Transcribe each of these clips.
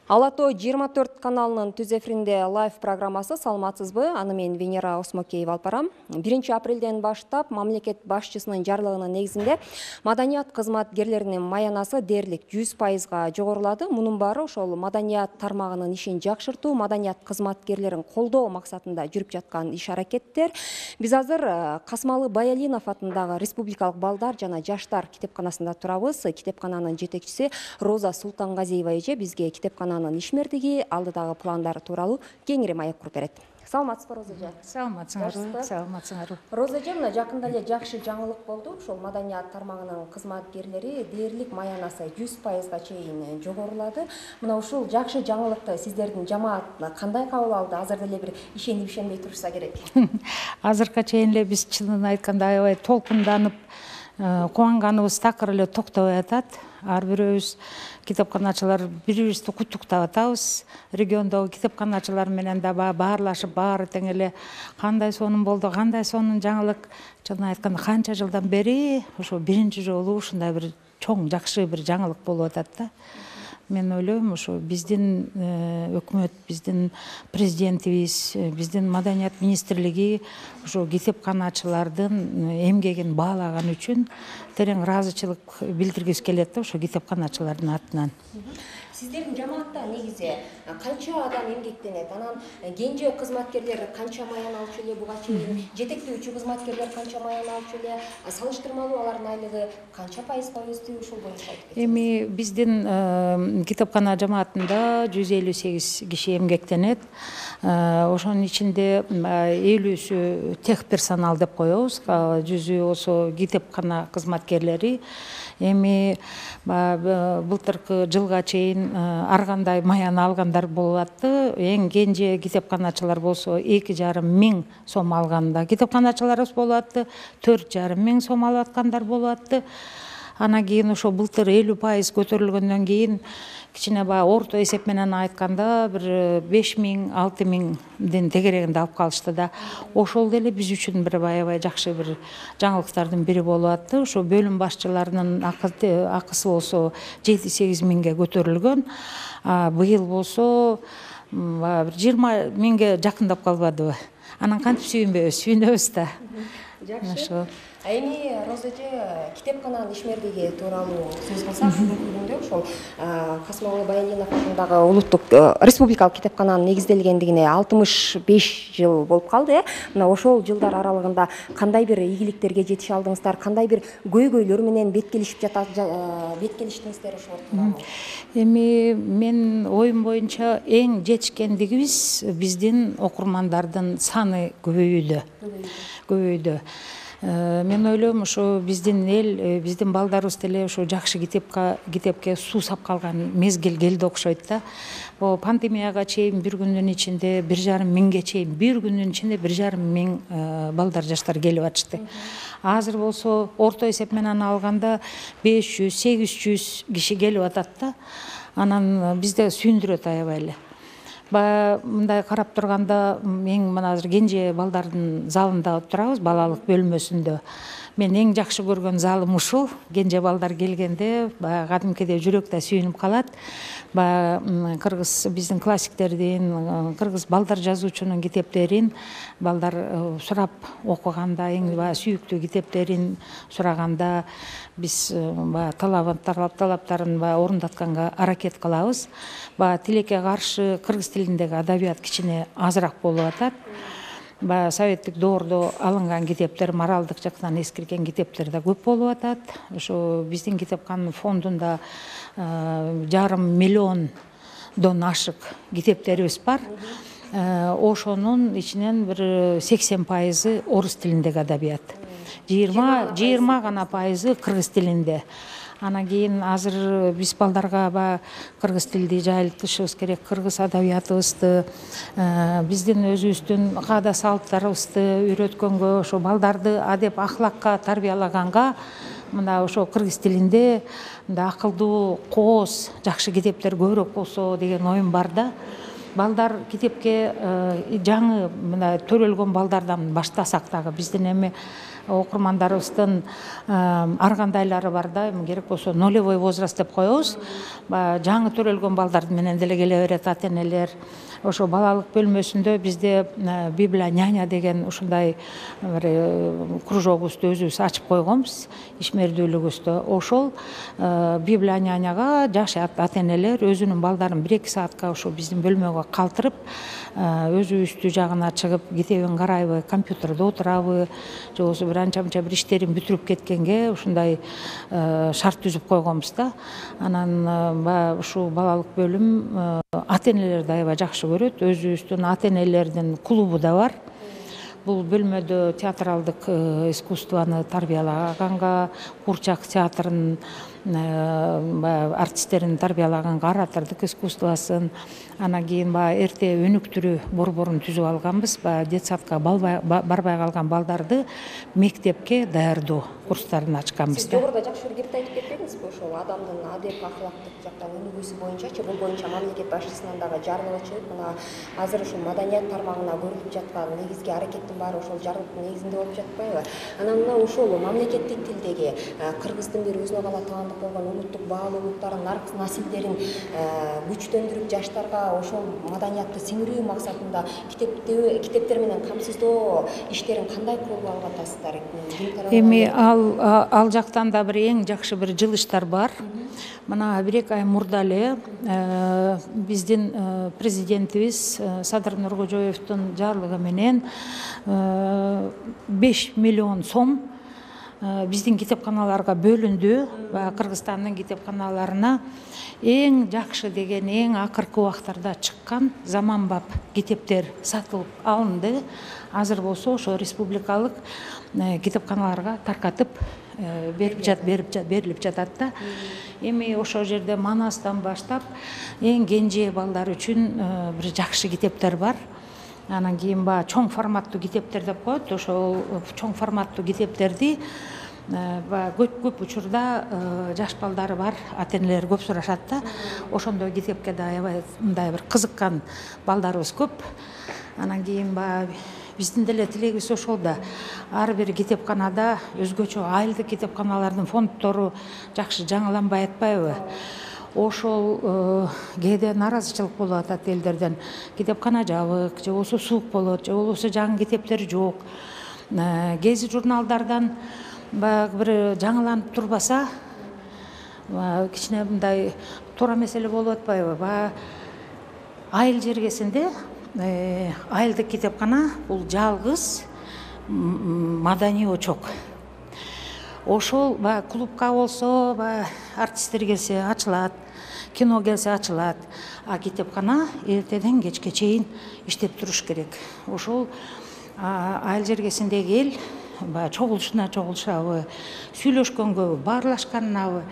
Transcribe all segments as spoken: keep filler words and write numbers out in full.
Ала тоо жыйырма төрт каналынын түз эфиринде лайв программасы. Саламатсызбы? Аны мен Венера Осмокеева алып барам. биринчи апрелден баштап мамлекет башчысынын жарлыгынын негизинде маданият кызматкерлеринин маянасы дээрлик жүз пайызга жогорулады. Мунун баары ошол маданият тармагынын ишин жакшыртуу, маданият кызматкерлерин колдоо максатында жүрүп жаткан иш-аракеттер. Биз азыр Касмалы Баялинов атындагы Республикалык балдар жана жаштар китепканасында турабыз. Китепкананын жетекчиси Роза Султангазиева эже бизге китепкана ишмердиги, алдыдагы пландары тууралуу кеңири маек куруп берет. Саламатсызбы, Роза эже? Саламатсыңарбы? Саламатсыңарбы. Роза эже, мына жакында эле жакшы жаңылык болду. Ошол маданият тармагынын кызматкерлери дээрлик маянасы жүз пайызга чейин жогорулады. Мына ушул жакшы жаңылыкты сиздердин жамаат кандай кабыл алды? Азыр деле бир ишенип ишенбей турушса керек. Азыркыга чейин эле биз чынын айтканда аябай толкунданып, кубанганыбыз такыр эле токтобой атат. Ар бирөөбүз китепканачылар бири-бирибизди куттуктап атабыз. Региондогу китепканачылар менен да баарлашып, баары тең эле кандай сонун болду, кандай сонун жаңылык. Чынын айтканда канча жылдан бери ошо биринчи жолу ушундай бир чоң жакшы бир жаңылык болуп атат да. Мен ойлойм, ошо биздин өкмөт, биздин президентибиз, биздин маданият министрлиги ошо китепканачылардын эмгегин баалаган үчүн терең ыраазычылык билдиргибиз келет да ошо китепканачылардын атынан. Сиздердин жамаатта негизи канча адам эмгектенет? Анан кенже кызматкерлер канча маян алчу эле буга чейин? Жетектөөчү кызматкерлер канча маян алчу эле? Салыштырмалуу алардын айлыгы канча пайызга өстү? Ушул боюнча айтып кетсеңиз. Эми биздин китепкана жамаатында жүз элүү сегиз киши эмгектенет. Ошонун ичинде элүүсү техперсонал деп коебуз. Жүзү болсо китепкана кызматкерлери. Эми былтыркы жылга чейин ар кандай маян алгандар болуп атты. Эң кенже китепканачылар болсо эки жарым миң сом алган да китепканачыларыбыз болуп атты. төрт жарым миң сом алып аткандар болуп атты. Анан кийин ошо былтыр элүү пайыз көтөрүлгөндөн кийин кичине баягы орто эсеп менен айтканда бир беш миң алты миңдин тегерегинде алып калышты да. Ошол деле биз үчүн бир аябай жакшы бир жаңылыктардын бири болуп атты. Ошо бөлүм башчыларынын акысы болсо жети сегиз миңге көтөрүлгөн. Быйыл болсо бир жыйырма миңге жакындап калбадыбы? Анан кантип сүйүнбөйбүз? Сүйүнөбүз да. Жакшы. Эми Роза эже китепкананын ишмердиги тууралуу сөз кылсак, бүгүнкү күндө ошол Касмалы Баялинов атындагы улуттук республикалык китепкананын негизделгендигине алтымыш беш жыл болуп калды. Мына ошол жылдар аралыгында кандай бир ийгиликтерге жетише алдыңыздар, кандай бир көйгөйлөр менен беткелишип жатат, беткелиштиңиздер ошол? Эми мен оюм боюнча эң жетишкендигибиз биздин окурмандардын саны көбөйүүдө. Көбөйдү. Мен ойлойм, ошо биздин эл, биздин балдарыбыз деле ошо жакшы китепке китепке суу сап калган мезгил келди окшойт да. О пандемияга чейин бир күндүн ичинде бир жарым миңге чейин, бир күндүн ичинде бир жарым миң балдар жаштар келип атышты. Азыр болсо орто эсеп менен алганда беш жүз сегиз жүз киши келип атат да. Анан бизде сүйүндүрөт аябай эле. Баягы мындай карап турганда эң мына азыр кенже балдардын залында турабыз, балалык бөлмөсүндө. Мен эң жакшы көргөн залым ушул. Кенже балдар келгенде баягы кадимкидей жүрөк да сүйүнүп калат. Баягы кыргыз биздин классиктердин, кыргыз балдар жазуучунун китептерин балдар сурап окуганда, эң баягы сүйүктүү китептерин сураганда биз баягы талаптарын баягы орундатканга аракет кылабыз. Баягы тилекке каршы кыргыз тилиндеги адабият кичине азыраак болуп атат. Баягы советтик доордо алынган китептер, моралдык жактан эскирген китептер да көп болуп атат. Ошо биздин китепкананын фондунда жарым миллиондон ашык китептерибиз бар. Ошонун ичинен бир сексен пайызы орус тилиндеги адабият. жыйырма гана пайызы кыргыз тилинде. Анан кийин азыр биз балдарга баягы кыргыз тилди жайылтышыбыз керек, кыргыз адабиятыбызды, биздин өзүбүздүн каада салттарыбызды үйрөткөнгө, ошо балдарды адеп ахлакка тарбиялаганга мына ошо кыргыз тилинде мындай акылдуу, кооз, жакшы китептер көбүрөөк болсо деген оюм бар да. балдар китепке жаңы мына төрөлгөн балдардан баштасак дагы биздин эми окурмандарыбыздын ар кандайлары бар да, эми керек болсо нулевой возраст деп коебуз. Жаңы төрөлгөн балдар менен деле келе берет ата энелер. Ошо балалык бөлмөсүндө бизде Библия няня деген ушундай бир кружогубузду өзүбүз ачып койгонбуз ишмердүүлүгүбүздө. Ошол Библия няняга жаш ата энелер өзүнүн балдарын бир эки саатка ошо биздин бөлмөгө калтырып, өзүбүздү жагына чыгып китебин карайбы, компьютерде отурабы, же болбосо бир анча мынча бир иштерин бүтүрүп кеткенге ушундай шарт түзүп койгонбуз да. Анан баягы ушул балалык бөлүм ата энелерди аябай жакшы көрөт. Өзүбүздүн ата энелердин клубу да бар. Бул бөлмөдө театралдык искусствону тарбиялаганга, куурчак театрын артисттерин тарбиялаганга, оратордук искусствосын, анан кийин баягы эрте өнүктүрүү борборун түзүп алганбыз. Баягы детсадка барбай калган балдарды мектепке даярдоо курстарын ачканбыз. Сиз жогоруда жакшы бир кепти айтып кетпедиңизби? Ошол адамдын адеп акылактык жактан өнүгүүсү боюнчачы, бул боюнча мамлекет башчысынан дагы жарлыгы чыгып, мына азыр ушул маданият тармагына көрүлүп жаткан негизги аракеттин баары ошол жарлыктын негизинде болуп жатпайбы? Анан мына ушул мамлекеттик тилдеги кыргыздын бир өзүнө кала таандык болгон улуттук баалуулуктарын, насилдерин күчтөндүрүп, жаштарга ошол маданиятты сиңирүү максатында китептер менен камсыздоо иштерин кандай колго алып атасыздар? Эми ал ал жактан да бир эң жакшы бир жылыштар бар. Мына бир эки ай мурда эле биздин президентибиз Садыр Нуркожоевдун жарлыгы менен беш миллион сом биздин китепканаларга бөлүндү. Кыргызстандын китепканаларына эң жакшы деген, эң акыркы убактарда чыккан заманбап китептер сатылып алынды. Азыр болсо ошо республикалык китепканаларга таркатып берилип жатат да. Эми ошол жерде Манастан баштап эң кенже балдар үчүн бир жакшы китептер бар. Анан кийин баягы чоң форматтуу китептер деп коет. Ошол чоң форматтуу китептерди көп көп учурда жаш балдары бар ата энелер көп сурашат да. Ошондой китепке да аябай мындай бир кызыккан балдарыбыз көп. Анан кийин баягы биздин деле тилегибиз ошол да. Ар бир китепканада өзгөчө айылдык китепканалардын фонддору жакшы жаңыланбай атпайбы? Ошол кээде нааразычылык болуп атат элдерден. Китепкана жабык, же болбосо суук болот, же болбосо жаңы китептер жок. Гези журналдардан баягы бир жаңыланып турбаса, кичине мындай туура меселе болуп атпайбы? Баягы айыл жергесинде айылдык китепкана бул жалгыз маданий очок. Ошол баягы клубка болсо, баягы артисттер келсе ачылат, кино келсе ачылат, а китепкана эртеден кечке чейин иштеп туруш керек. Ошол айыл жергесиндеги эл баягы чогулушуна чогулушабы, сүйлөшкөнгөбү, баарлашканынабы,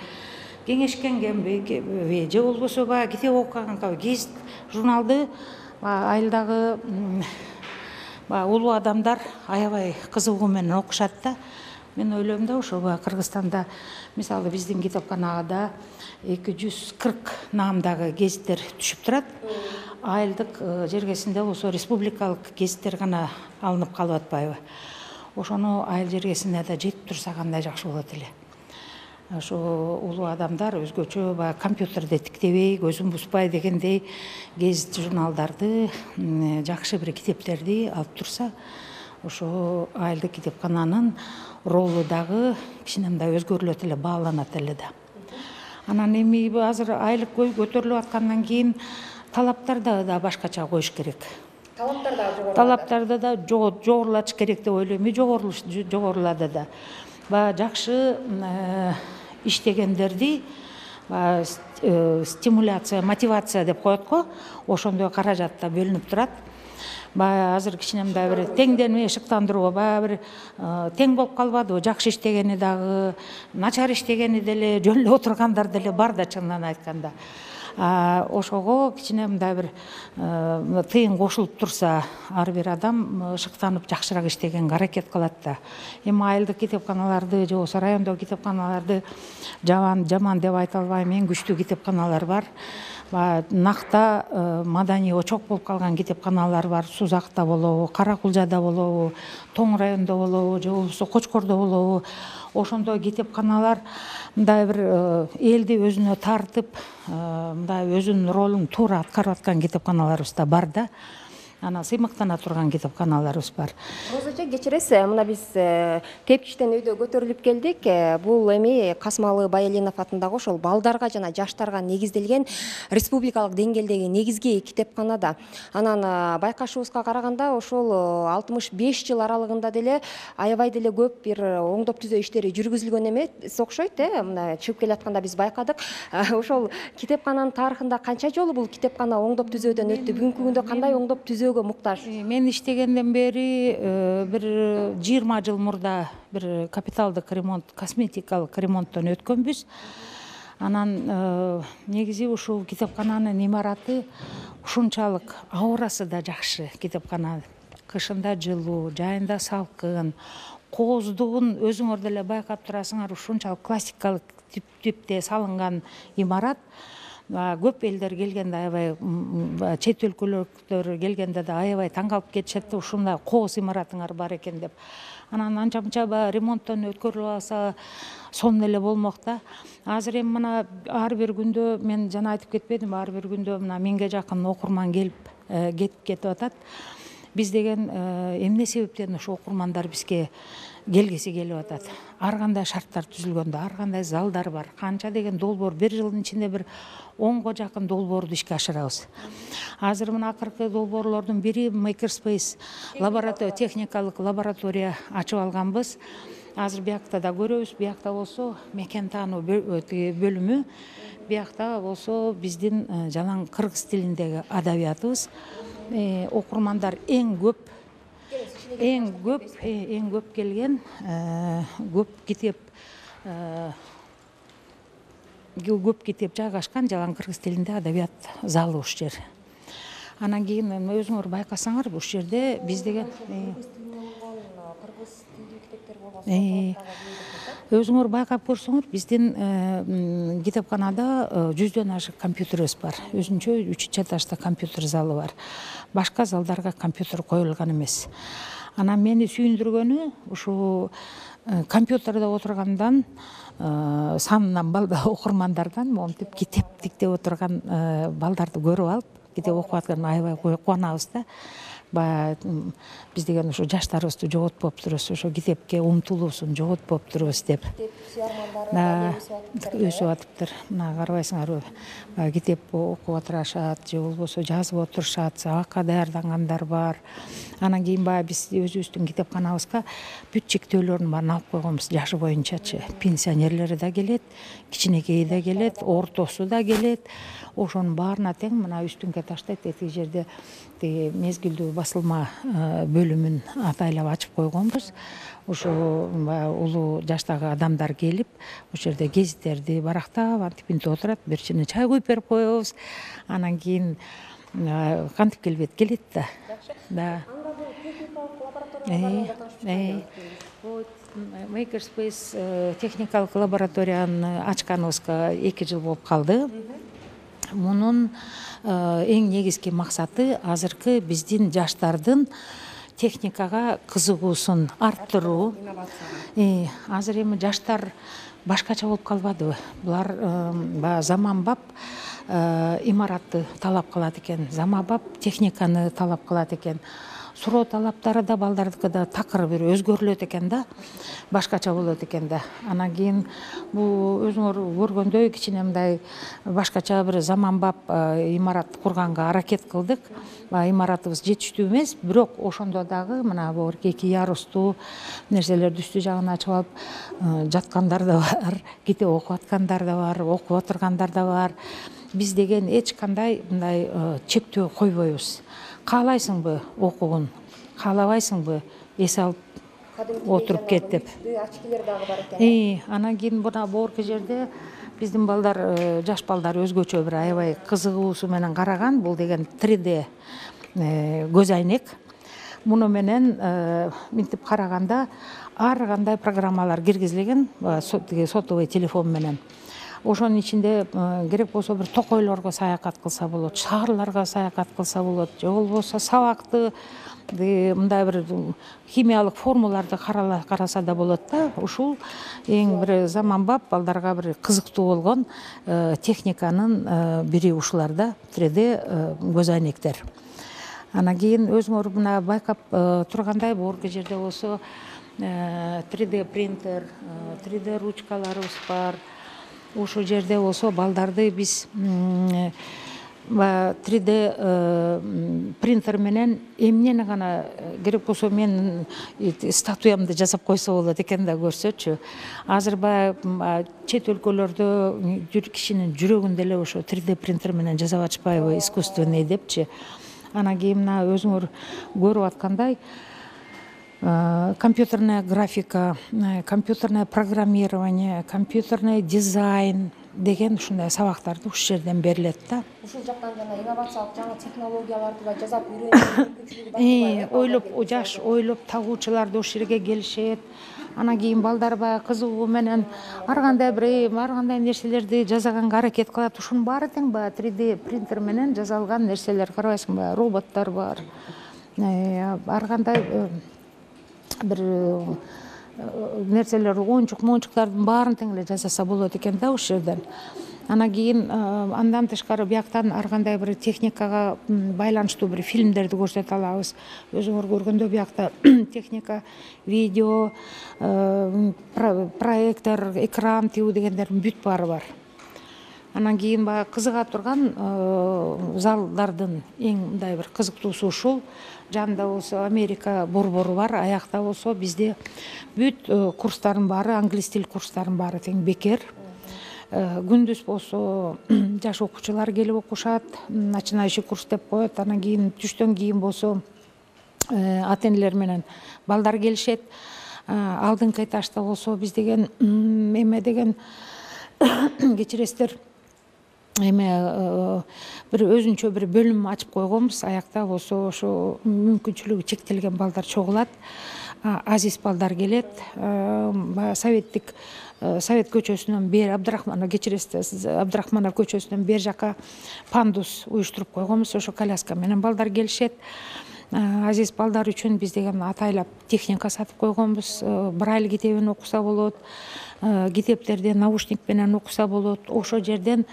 кеңешкенгенби, же болбосо баягы китеп окуганга гезит журналды айылдагы улуу адамдар аябай кызыгуу менен окушат да. Мен ойлойм да, ошо Кыргызстанда мисалы биздин китепканага эки жүз кырк наамдагы гезиттер түшүп турат. Айылдык жергесинде болсо республикалык гезиттер гана алынып калып атпайбы? Ошону айыл жергесине да жетип турса кандай жакшы болот эле. Ошо улуу адамдар өзгөчө баягы компьютерде тиктебей, көзүн бузбай дегендей гезит журналдарды, жакшы бир китептерди алып турса, ошо айылдык китепкананын ролу дагы кичине мындай өзгөрүлөт эле, бааланат эле да. Анан эми азыр айлык көтөрүлүп аткандан кийин талаптарды да башкача коюш керек. Талаптар да жогорулады. Талаптарды да жогорулатыш керек деп ойлойм. Жогорулады да. Баягы жакшы иштегендерди стимуляция, мотивация деп коет го, ошондой каражат да бөлүнүп турат. Баягы азыр кичине мындай бир теңдерме шыктандыруу, баягы бир тең болуп калбадыбы? Жакшы иштегени дагы, начар иштегени деле, жөн эле отургандар деле бар да, чынынан айтканда. Ошого кичине мындай бир тыйын кошулуп турса, ар бир адам шыктанып жакшыраак иштегенге аракет кылат да. Эми айылдык китепканаларды же болбосо райондогу китепканаларды жаман жаман деп айта албайм. Эң күчтүү китепканалар бар. Накта маданий очок болуп калган китепканалар бар. Сузакта болобу, Каракулжада болобу, Тоң районунда болобу, же болбосо Кочкордо болобу. Ошондой китепканалар мындай бир элди өзүнө тартып, мындай өзүнүн ролун туура аткарып аткан китепканаларыбыз да бар да. Ана сыймыктана турган китепканаларыбыз бар. Роза эже, кечиресиз, мына биз тепкичтен өйдө көтөрүлүп келдик. Бул эми Касымалы Байалинов атындагы ошол балдарга жана жаштарга негизделген республикалык деңгээлдеги негизги китепканада. Анан байкашыбызга караганда ошол алтымыш беш жыл аралыгында деле аябай деле көп бир оңдоп түзөө иштери жүргүзүлгөн эмес окшойт, э? Мына чыгып келатканда биз байкадык. Ошол китепкананын тарыхында канча жолу бул китепкана оңдоп түзөөдөн өттү? Бүгүнкү күндө кандай оңдоп түзөө муктаж? Мен иштегенден бери бир жыйырма жыл мурда бир капиталдык ремонт, косметикалык ремонттон өткөнбүз. Анан негизи ушул китепкананын имараты ушунчалык аурасы да жакшы. Китепкана кышында жылуу, жайында салкын, кооздугун өзүңөр деле байкап турасыңар, ушунчалык классикалык типте салынган имарат. Көп элдер келгенде аябай, чет өлкөлөр келгенде да аябай таң калып кетишет, ушундай кооз имаратыңар бар экен деп. Анан анча мынча ремонттон өткөрүлүп алса сонун эле болмок да. Азыр эми мына ар бир күндө, мен жана айтып кетпедим, ар бир күндө мына миңге жакын окурман келип кетип кетип атат. Биз деген эмне себептен ошо окурмандар бизге келгиси келип атат? Ар кандай шарттар түзүлгөндө, ар кандай залдар бар, канча деген долбоор, бир жылдын ичинде бир онго жакын долбоорду ишке ашырабыз. Азыр мына акыркы долбоорлордун бири Makerspace лаборатория, техникалык лаборатория ачып алганбыз. Азыр биякта да көрөбүз, биякта болсо мекен таануу бөлүмү, биякта болсо биздин жалаң кыргыз тилиндеги адабиятыбыз. Окурмандар эң көп эң көп эң көп келген көп китеп көп китеп жайгашкан жалаң кыргыз тилинде адабият залы ушул жер. Анан кийин өзүңөр байкасаңар, ушул жерде биз деген өзүңөр байкап көрсөңөр, биздин китепканада жүздөн ашык компьютерибиз бар. Өзүнчө үч этажда компьютер залы бар. Башка залдарга компьютер коюлган эмес. Анан мени сүйүндүргөнү ушул компьютерде отургандан, санынан балда окурмандардан монтип китеп тиктеп отурган балдарды көрүп алып, китеп окуп аткан аябай кубанабыз да. Биз деген ошо жаштарыбызды жоготпоптурбуз, ошо китепке умтулуусун жоготпоптурбуз деп. Өсүп атыптыр. Мына карабайсыңарбы, китеп окуп отурушат, же болбосо жазып отурушат, сабакка даярдангандар бар. Анан кийин баягы биз өзүбүздүн китепканабызга бүт чектөөлөрүн баарын алып койгонбуз жашы боюнчачы. Пенсионерлери да келет, кичинекейи да келет, ортосу да келет. Ошонун баарына тең мына үстүнгө таштайт, этиги жерде мезгилдүү басылма бөлүмүн атайлап ачып койгонбуз. Ошо улуу жаштагы адамдар келип, ошол жерде гезиттерди барактап, антип интип отурат, бир чыны чай куюп берип коебуз. Анан кийин кантип келбейт, келет да. Да. Makerspace техникалык лабораторияны ачканыбызга эки жыл болуп калды. Мунун эң негизги максаты азыркы биздин жаштардын техникага кызыгуусун арттыруу. Азыр эми жаштар башкача болуп калбадыбы? Булар заманбап имаратты талап кылат экен, заманбап техниканы талап кылат экен. Суроо талаптары да балдардыкы да такыр бир өзгөрүлөт экен да, башкача болот экен да. Анан кийин бул өзүңөр көргөндөй кичине мындай башкача бир заманбап имарат курганга аракет кылдык. Имаратыбыз жетиштүү эмес, бирок ошондо дагы мына бул эки ярустуу нерселерди үстү жагын ачып алып жаткандар да бар, китеп окуп аткандар да бар, окуп отургандар да бар. Биз деген эч кандай мындай чектөө койбойбуз. Каалайсыңбы окугун, каалабайсыңбы эс алып отуруп кет деп. Очкилер дагы бар экен. Анан кийин мына борки жерде биздин балдар, жаш балдар өзгөчө бир аябай кызыгуусу менен караган. Бул деген три дэ көз айнек. Муну менен минтип караганда ар кандай программалар киргизилген, сотовый телефон менен. ошонун ичинде керек болсо бир токойлорго саякат кылса болот, шаарларга саякат кылса болот, же болбосо сабакты мындай бир химиялык формуларды караса да болот да. Ушул эң бир заманбап, балдарга бир кызыктуу болгон техниканын бири ушулар да, три дэ көз айнектер. Анан кийин өзүңөр мына байкап тургандай, борги жерде болсо три дэ принтер, три дэ ручкаларыбыз бар. Ушул жерде болсо балдарды биз три дэ принтер менен эмнени гана керек болсо мен статуямды жасап койсо болот экен да, көрсөчү. Азыр баягы чет өлкөлөрдө кишинин жүрөгүн деле ошо три дэ принтер менен жасап атышпайбы, искусственный депчи. Анан кийин мына өзүңөр көрүп аткандай компьютерная графика, компьютерное программирование, компьютерный дизайн деген ушундай сабактарды ушул жерден берилет да. Ушул жактан жана инновациялык жаңы технологияларды да жасап үйрөнүү мүмкүнчүлүгү бар. Ойлоп, жаш ойлоп табуучулар да ушул жерге келишет. Анан кийин балдар баягы кызыгуу менен ар кандай бир ар кандай нерселерди жасаганга аракет кылат. Ушунун баары тең баягы три дэ принтер менен жасалган нерселер, карабайсыңбы? Роботтор бар. Ар кандай бир нерселер, оюнчук моюнчуктардын баарын тең эле жасаса болот экен да ушул жерден. Анан кийин андан тышкары бияктан ар кандай бир техникага байланыштуу бир фильмдерди көрсөтө алабыз. Өзүңөр көргөндөй биякта техника, видео, проектор, экран тигүү дегендердин бүт баары бар. Анан кийин баягы кызыга турган залдардын эң мындай бир кызыктуусу ушул. Жанында болсо Америка борбору бар, аякта болсо бизде бүт курстардын баары, англис тил курстарынын баары тең бекер. Күндүз болсо жаш окуучулар келип окушат, начинающий курс деп коет. Анан кийин түштөн кийин болсо ата-энелер менен балдар келишет. Алдыңкы этажда болсо биз деген эме деген кечиресиздер, эме бир өзүнчө бир бөлүм ачып койгонбуз. Аякта болсо ошо мүмкүнчүлүгү чектелген балдар чогулат. Азиз балдар келет. Советтик Совет көчөсүнөн бери Абдрахманов кечиресиз, Абдрахманов көчөсүнөн бери жака пандус уюштуруп койгонбуз. Ошо коляска менен балдар келишет. Азиз балдар үчүн биз деген атайлап техника сатып койгонбуз. Брайль китебин окуса болот, китептерди наушник менен окуса болот. Ошо жерден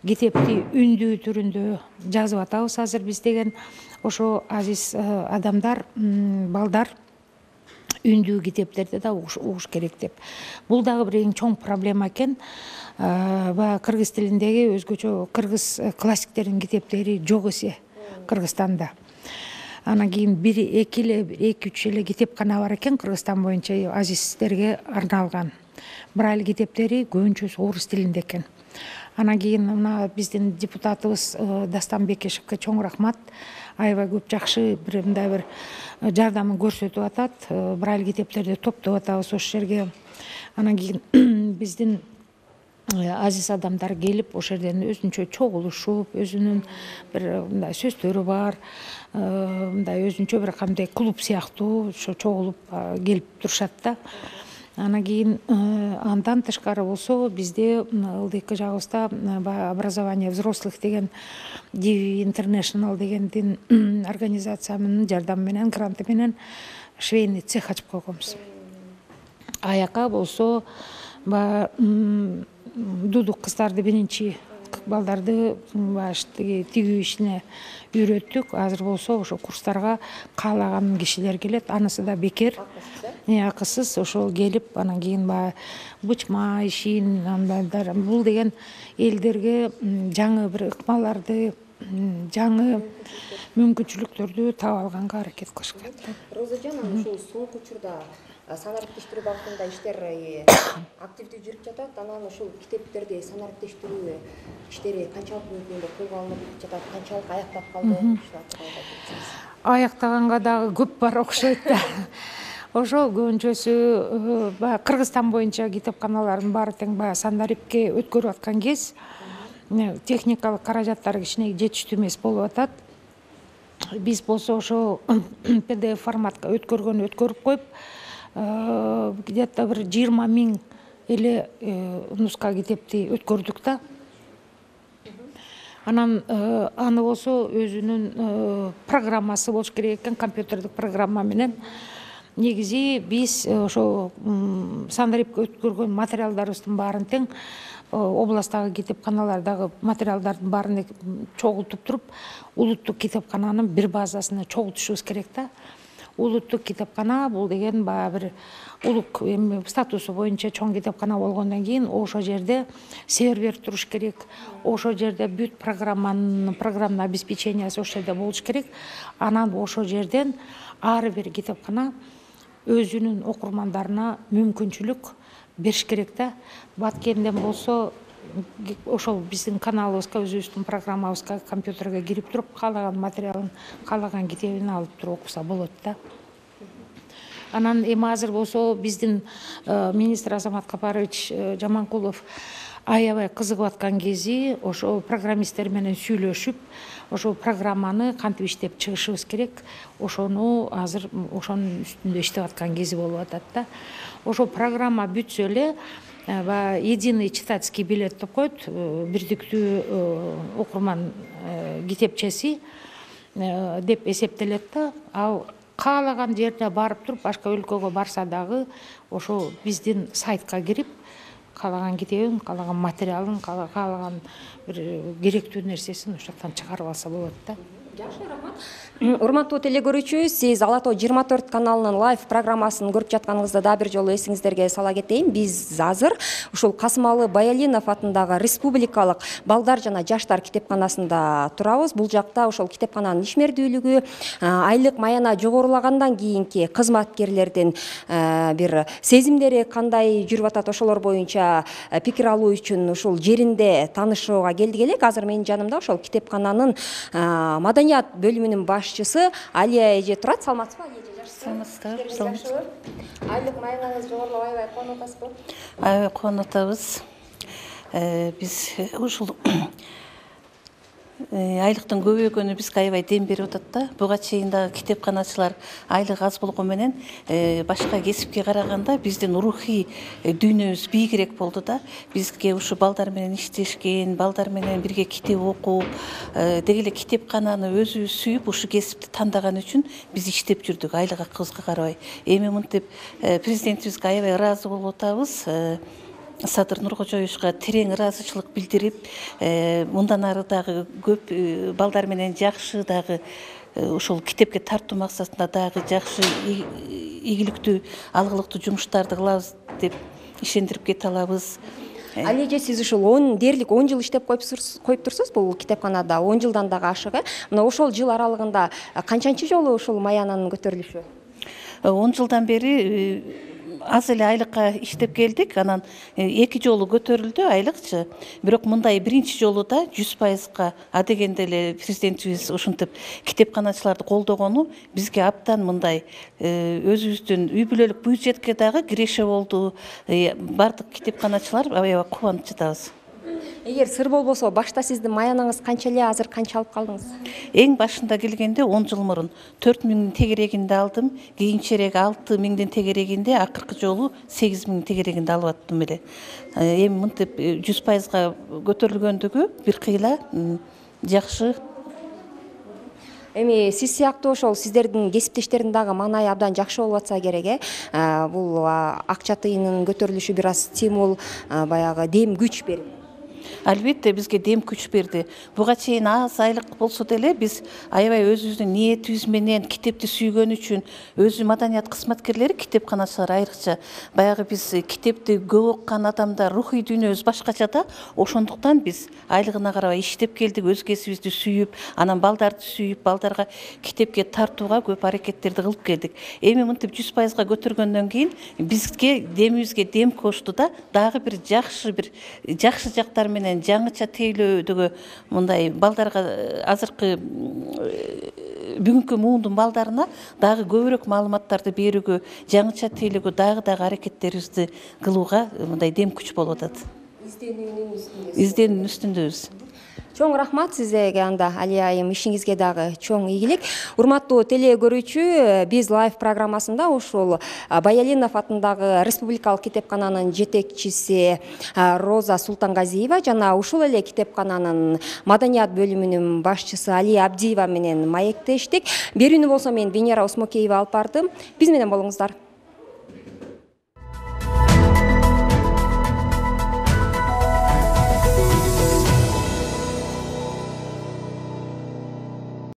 китепти үндүү түрүндө жазып атабыз азыр биз деген. Ошо азиз адамдар, балдар үндүү китептерди да угуш керек деп. Бул дагы бир эң чоң проблема экен. Баягы кыргыз тилиндеги өзгөчө кыргыз классиктеринин китептери жок эсе Кыргызстанда. Анан кийин бир эки эле эки үч эле китепкана бар экен Кыргызстан боюнча азиздерге арналган. Брайль китептери көбүнчөсү орус тилинде экен. Анан кийин мына биздин депутатыбыз Дастан Бекешевке чоң рахмат. Аябай көп жакшы бир мындай бир жардамын көрсөтүп атат. Брайль китептерди топтоп атабыз ошол жерге. Анан кийин биздин азиз адамдар келип ошол жерден өзүнчө чогулушуп, өзүнүн бир мындай сөздөрү бар, мындай өзүнчө бир кандай клуб сыяктуу ошо чогулуп келип турушат да. Анан кийин андан тышкары болсо бизде ылдыйкы жагыбызда образование взрослых деген ди ви International дегендин организациянын жардамы менен, гранты менен швейный цех ачып койгонбуз. Аяка болсо дудук кыздарды биринчи балдарды тигүү ишине үйрөттүк. Азыр болсо ошо курстарга каалаган кишилер келет. Анысы да бекер, акысыз ошол келип, анан кийин баягы бычма ишин, бул деген элдерге жаңы бир ыкмаларды, жаңы мүмкүнчүлүктөрдү таап алганга аракет кылышат. Розажан, ушул соңку учурда санариптештирүү багытында иштер активдүү жүрүп жатат. Анан ушул китептерди санариптештирүү иштери канчалык мүмкүндө колго алынып жатат, канчалык аяктап калды? Аяктаганга дагы көп бар окшойт да. Ошол көбүнчөсү баягы Кыргызстан боюнча китепканалардын баары тең баягы санарипке өткөрүп аткан кез техникалык каражаттар кичине жетиштүү эмес болуп атат. Биз болсо ошо пи ди эф форматка өткөргөн өткөрүп коюп, где-то бир жыйырма миң эле нуска китепти өткөрдүк да. Анан аны болсо өзүнүн программасы болуш керек экен, компьютердик программа менен. Негизи биз ошо сандрипке өткөргөн материалдарыбыздын баарын тең областтагы китепканалардагы материалдардын баарын чогултуп туруп, улуттук китепкананын бир базасына чогултушубуз керек да. Улуттук китепкана бул деген баягы бир улук статусу боюнча чоң китепкана болгондон кийин ошол жерде сервер туруш керек, ошол жерде бүт программанын программный обеспечениясы ошол жерде болуш керек. Анан ошол жерден ар бир китепкана өзүнүн окурмандарына мүмкүнчүлүк бериш керек да. Баткенден болсо ошол биздин каналыбызга, өзүбүздүн программабызга, компьютерге кирип туруп, каалаган материалын, каалаган китебин алып туруп окуса болот да. Анан эми азыр болсо биздин министр Азамат Капарович Жаманкулов аябай кызыгып аткан кези, ошо программисттер менен сүйлөшүп, ошол программаны кантип иштеп чыгышыбыз керек, ошону азыр ошонун үстүндө иштеп аткан кези болуп атат да. Ошол программа бүтсө эле единый читательский билет деп коет, бирдиктүү окурман китепчеси деп эсептелет да. Ал каалаган жерде барып туруп, башка өлкөгө барса дагы ошо биздин сайтка кирип, каалаган китебин, каалаган материалын, каалаган бир керектүү нерсесин ошол жактан чыгарып алса болот да. Жакшы, рахмат. Урматтуу теле көрүүчү, сиз Ала Тоо жыйырма төрт каналынын лайв программасын көрүп жатканыңызды да бир жолу эсиңиздерге сала кетейин. Биз азыр ушул Касымалы Баялинов атындагы Республикалык балдар жана жаштар китепканасында турабыз. Бул жакта ошол китепкананын ишмердүүлүгү, айлык маяна жогорулагандан кийинки кызматкерлердин бир сезимдери кандай жүрүп атат, ошолор боюнча пикир алуу үчүн ушул жеринде таанышууга келдик элек. Азыр менин жанымда ошол китепкананын маданият бөлүмүнүн башчысы Алия эже турат. Саламатсызбы, Алия эже? Саламатсыздар. Саламатсыздар. Айлык маянаңыз жогорулап аябай кубанып атасызбы? Аябай кубанып атабыз. Биз ушул айлыктын көбөйгөнү бизге аябай дем берип атат да. Буга чейин дагы китепканачылар айлык аз болгон менен башка кесипке караганда биздин рухий дүйнөбүз бийигирээк болду да. Бизге ушу балдар менен иштешкен, балдар менен бирге китеп окуп, деги эле китепкананы өзүбүз сүйүп, ушу кесипти тандаган үчүн биз иштеп жүрдүк, айлык акыбызга карабай. Эми мынтип президентибизге аябай ыраазы болуп атабыз. Садыр Нуркожоевичка терең ыраазычылык билдирип, мындан ары дагы көп балдар менен жакшы дагы ошол китепке тартуу максатында дагы жакшы ийгиликтүү, алгылыктуу жумуштарды кылабыз деп ишендирип кете алабыз. Алия эже, сиз ушул он дээрлик он жыл иштеп коюп турсуз бул китепканада, он жылдан дагы ашыгы. Мына ошол жыл аралыгында канчанчы жолу ушул маянанын көтөрүлүшү? он жылдан бери аз эле айлыкка иштеп келдик. Анан эки жолу көтөрүлдү айлыкчы. Бирок мындай биринчи жолу да жүз пайызга адегенде эле президентибиз ушинтип китепканачыларды колдогону бизге абдан мындай өзүбүздүн үй бүлөлүк бюджетке дагы киреше болду. Бардык китепканачылар аябай кубанып жатабыз. Эгер сыр болбосо, башта сиздин маянаңыз канча эле, азыр канча алып калдыңыз? Эң башында келгенде он жыл мурун төрт миңдин тегерегинде алдым, кийинчерээк алты миңдин тегерегинде, акыркы жолу сегиз миңдин тегерегинде алып аттым эле. Эми мынтип жүз пайызга көтөрүлгөндүгү бир кыйла жакшы. Эми сиз сыяктуу ошол сиздердин кесиптештердин дагы маанайы абдан жакшы болуп атса керек, э. Бул акча тыйынын көтөрүлүшү бир аз стимул, баягы дем күч берип. Албетте бизге дем күч берди. Буга чейин аз айлык болсо деле биз аябай өзүбүздүн ниетибиз менен китепти сүйгөн үчүн өзү маданият кызматкерлери, китепканачылар айрыкча баягы биз китепти көп окуган адамдар рухий дүйнөбүз башкача да, ошондуктан биз айлыгына карабай иштеп келдик, өз кесибибизди сүйүп, анан балдарды сүйүп, балдарга китепке тартууга көп аракеттерди кылып келдик. Эми мынтип жүз пайызга көтөргөндөн кийин бизге демибизге дем кошту да, дагы бир жакшы бир жакшы жактар менен жаңыча тейлөөдөгү мындай балдарга азыркы бүгүнкү муундун балдарына дагы көбүрөөк маалыматтарды берүүгө, жаңыча тейлөөгө дагы дагы аракеттерибизди кылууга мындай дем күч болуп атат. Изденүүнүн үстүндө. Изденүүнүн үстүндөбүз. Чоң рахмат сизге анда Алия айым, ишиңизге дагы чоң ийгилик. Урматтуу теле көрүүчү, биз лайв программасында ушул Баялинов атындагы Республикалык китепкананын жетекчиси Роза Султангазиева жана ушул эле китепкананын маданият бөлүмүнүн башчысы Алия Абдиева менен маектештик. Берүүнү болсо мен Венера Осмокеева алып бардым. Биз менен болуңуздар.